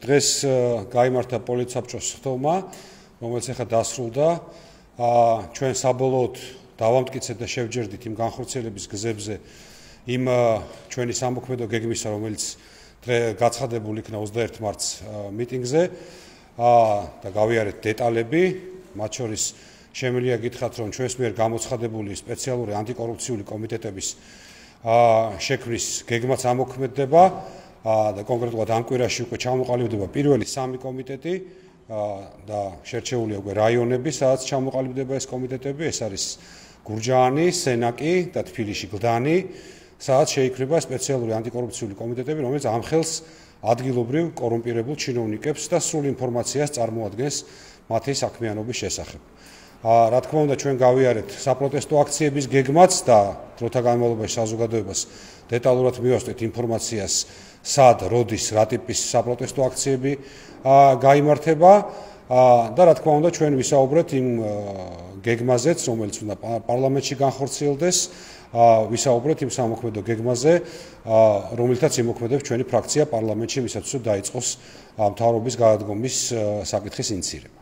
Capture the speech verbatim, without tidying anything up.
დღეს გაიმართა პოლიტსაბჭოს ხდომა, რომელიც ახლა დასრულდა. ჩვენ საბოლოოდ დავამტკიცეთ და შევჯერდით იმ განხორციელების გზებზე იმ ჩვენი სამოქმედო გეგმისა, რომელიც გაცხადებული იქნა ოცდაერთი მარტს მიტინგზე და გავიარეთ დეტალები, მათ შორის შემიძლია გითხრათ, რომ ჩვენს მიერ გამოცხადებული სპეციალური ანტიკორუფციული კომიტეტების შექმნის გეგმაც ამოქმედდება და კონკრეტულად ამ კვირაში უკვე ჩამოყალიბდება პირველი სამი კომიტეტი და შერჩეულია უკვე რაიონები, სადაც ჩამოყალიბდება ეს კომიტეტები, ეს არის გურჯაანი, სენაკი და თბილისში გლდანი, სადაც შეიქმნება სპეციალური ანტიკორუფციული კომიტეტები, რომელიც ამხელს ადგილობრივ კორუმპირებულ ჩინოვნიკებს და სრულ ინფორმაციას წარმოადგენს მათი საქმიანობის შესახებ. რა თქმა უნდა, ჩვენ გავიარეთ საპროტესტო აქციების გეგმაც და დროთა განმავლობაში საზოგადოებას დეტალურად მივასწრეთ ინფორმაციას, სად, როდის, რა ტიპის საპროტესტო აქციები გაიმართება და რა თქმა უნდა, ჩვენ ვისაუბრეთ იმ გეგმაზეც, რომელიც უნდა პარლამენტში განხორციელდეს, ვისაუბრეთ იმ სამოქმედო გეგმაზე, რომელთაც იმოქმედებს ჩვენი ფრაქცია პარლამენტში, ვისაც დაიწყოს მთავრობის გადადგომის საკითხის ინიცირება.